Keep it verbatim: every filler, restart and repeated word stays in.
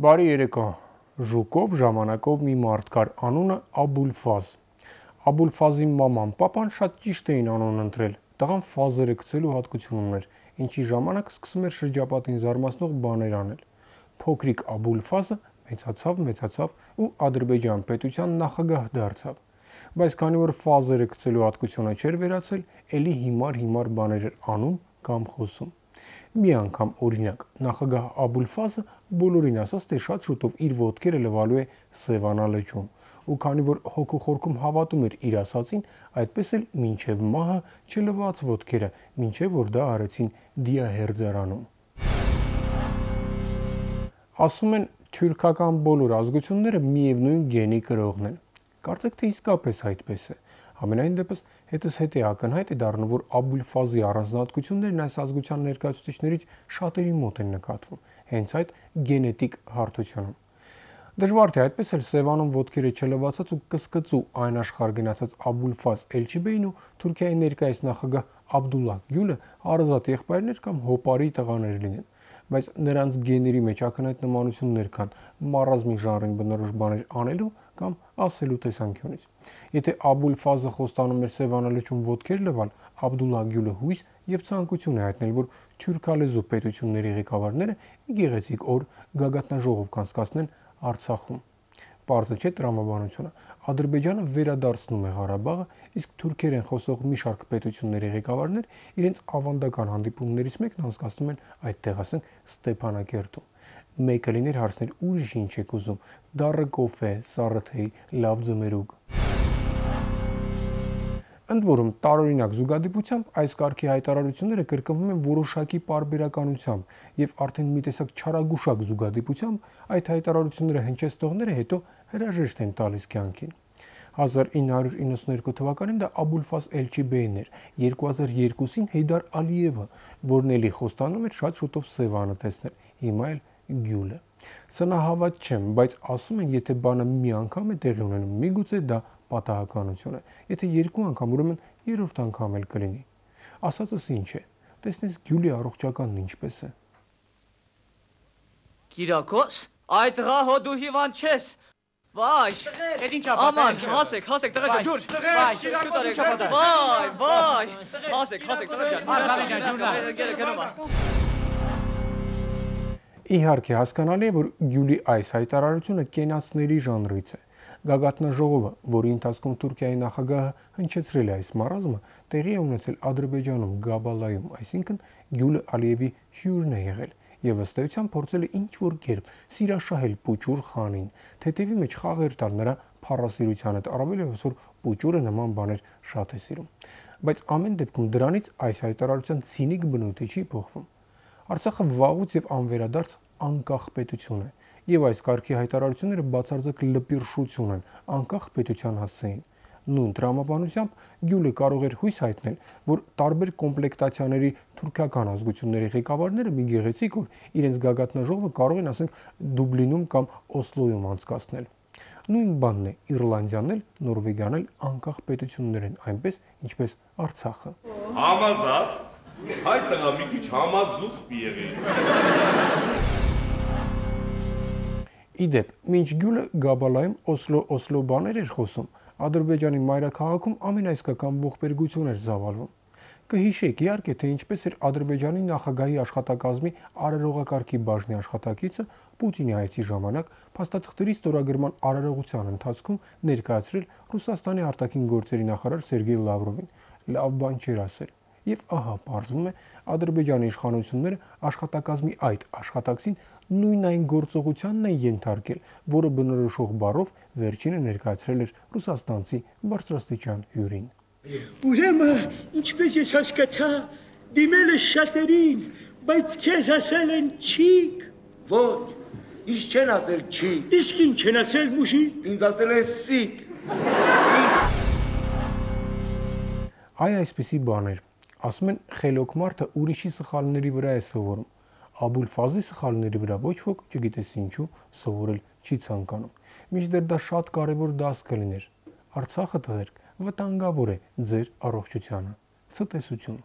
Բարի երեկո, ժուկով ժամանակով մի մարդ կար, անունը Աբուլֆազ։ Աբուլֆազի մաման, պապան շատ ճիշտ էին անուն ընտրել, տղան ֆազերը գցելու հատկություն ուներ, ինչի ժամանակ սկսում էր շրջապատին զարմացնող բաներ անել։ Փոքրիկ Աբուլֆազը մեծացավ, մեծացավ ու Ադրբեջան պետության նախագահ դարձավ։ Բայց քանի որ ֆազերը գցելու հատկությունը չէր վերացել, էլի հիմար-հիմար բաներ էր անում կամ խոսում։ Մի անգամ օրինակ նախագահ Աբուլֆազը բոլորին ասաց, թե շատ շուտով իր ոտքերը լվալու է Սևանա լճում, ու քանի որ հոգու խորքում հավատում էր իր ասածին, այդպես էլ մինչև մահը չլվաց ոտքերը, մինչև որ դա արեցին դիահերձարանում։ Ասում են, թյուրքական բոլոր ազգությունները միևնույն գենի կրողն են։ Կարծեք թե իսկապես այդպես է։ Համենայն դեպս հետզհետե ակնհայտ է դառնում, որ Աբուլֆազի առանձնահատկություններն այս ազգության ներկայացուցիչներից շատերի մոտ են նկատվում, հենց այդ գենետիկ հարթությունում։ Դժվար թե այդպես էլ Սևանում ոտքերը չլվացած ու կսկծու այն աշխարհ գնացած Աբուլֆազ Էլչիբեյն ու Թուրքիայի ներկայիս նախագահ Աբդուլլահ Գյուլը հարազատ եղբայրներ կամ հոպարի տղաներ լինեն, բայց նրանց գեների մեջ ակնհայտ նմանություններ կան մարազմի ժանրին բնորոշ բաներ անելու կամ ասելու տեսանկյունից։ Եթե Աբուլֆազը խոստանում էր Սևանա լճում ոտքեր լվալ, Աբդուլլահ Գյուլը հույս եւ ցանկություն է հայտնել, որ թյուրքալեզու պետությունների ղեկավարները մի գեղեցիկ օր գագաթնաժողով կանցկացնեն Արցախում։ Պարզը չէ տրամաբանությունը։ Ադրբեջանը վերադարձնում է Ղարաբաղը, իսկ թուրքերեն խոսող մի շարք պետությունների ղեկավարներ իրենց ավանդական հանդիպումներից մեկն անցկացնում են այդտեղ, ասենք Ստեփանակերտում։ Մեկը լիներ հարցնել ուրիշ ինչ եք ուզում, դառը կոֆե, սառը թեյ, լավ ձմերուկ։ Ընդ որում, տարօրինակ զուգադիպությամբ այս կարգի հայտարարությունները կրկնվում են որոշակի պարբերականությամբ եւ արդեն մի տեսակ չարագուշակ զուգադիպությամբ այդ հայտարարությունները հնչեցնողները հետո հրաժեշտ են տալիս կյանքին։ հազար ինը հարյուր իննսունհինգ թվականին դա Աբուլֆազ Էլչիբեյն էր, երկու հազար երկուսին Հեյդար Ալիևը, որն էլի խոստանում էր շատ շուտով Սևանը տեսնել, հիմա էլ Գյուլը։ Սնահավատ չեմ, բայց ասում են, եթե բանը մի անգամ է տեղի ունենում, միգուցե դա պատահականություն է, եթե երկու անգամ, ուրեմն երրորդ անգամ էլ կլինի։ Ասածս ինչ է, տեսնես Գյուլի առողջականն ինչպես է։ Կիրակոս, այդ տղա հո դու հիվանդ չես։ Վայ, Էդ ինչ ապա։ Աման, հասեք, հասեք, տղա ջան, ջուր։ Վայ, շուտ արեք։ Վայ, վայ։ Հասեք, հասեք, տղա ջան։ Արգավի ջան, ջուրնա։ Գերը գնում է։ Իհարկե հասկանալի է, որ Գյուլի այս հայտարարությունը կենացների ժանրից է։ Գագաթնաժողովը, որի ընթացքում Թուրքիայի նախագահը հնչեցրել է այս մարազմը, տեղի է ունեցել Ադրբեջանում, Գաբալայում, այսինքն Գյուլը Ալիևի հյուրն է եղել եւ ըստ էության փորձել է ինչ-որ կերպ սիրաշահել Պուչուր խանին, թեթևի մեջ խաղեր տալ նրա փառասիրությանը, առավելևս որ Պուչուրը նման բաներ շատ է սիրում։ Բայց ամեն դեպքում դրանից այս հայտարարության ցինիկ բնույթը չի փոխվում։ Արցախը վաղուց եւ անվերադարձ անկախ պետություն է, եւ այս կարգի հայտարարությունները բացարձակ լպիրշություն են անկախ պետության հասցեին։ Նույն տրամաբանությամբ Գյուլը կարող էր հույս հայտնել, որ տարբեր կոմպլեկտացիաների թուրքական ազգությունների ղեկավարները մի գեղեցիկ օր իրենց գագաթնաժողովը կարող են, ասենք, Դուբլինում կամ Օսլոյում անցկացնել։ Նույն բանն է Իռլանդիան էլ, Նորվեգիան էլ անկախ պետություններ են, այնպես ինչպես Արցախը։ Համազած, այդ տղա մի քիչ համազուս մի եղի։ Իդեպ, մինչ Գյուլը Գաբալայում Օսլո-Օսլո բաներ էր խոսում, Ադրբեջանի մայրաքաղաքում ամենաիսկական ողբերգություն էր ծավալվում։ Կհիշեք, իհարկե, թե ինչպես էր Ադրբեջանի նախագահի աշխատակազմի արարողակարգի բաժնի աշխատակիցը Պուտինի այցի ժամանակ փաստաթղթերի ստորագրման արարողության ընթացքում ներկայացրել Ռուսաստանի արտաքին գործերի նախարար Սերգեյ Լավրովին։ Լավ բան չէր ասել։ Եվ ահա, պարզվում է, Ադրբեջանի իշխանությունները աշխատակազմի այդ աշխատակցին նույն այն գործողությանն են ենթարկել, որը բնորոշող բառով վերջինը ներկայացրել էր ռուսաստանցի բարձրաստիճան հյուրին։ Ուրեմն, ինչպես ես հասկացա, դիմել ես շատերին, բայց քեզ ասել են չիկ։ Ոչ, ինչ չեն ասել չիկ։ Իսկ ինչ չեն ասել մուշի։ Ինձ ասել են սիկ։ Այ այսպիսի բաներ։ Ասում են, խելոք մարդը ուրիշի սխալների վրա է սովորում։ Աբուլֆազի սխալների վրա ոչ ոք, չգիտես ինչու, սովորել չի ցանկանում։ Մինչդեռ դա շատ կարևոր դաս կլիներ։ Արցախը, տղերք, վտանգավոր է ձեր առողջությանը։ Ցտեսություն։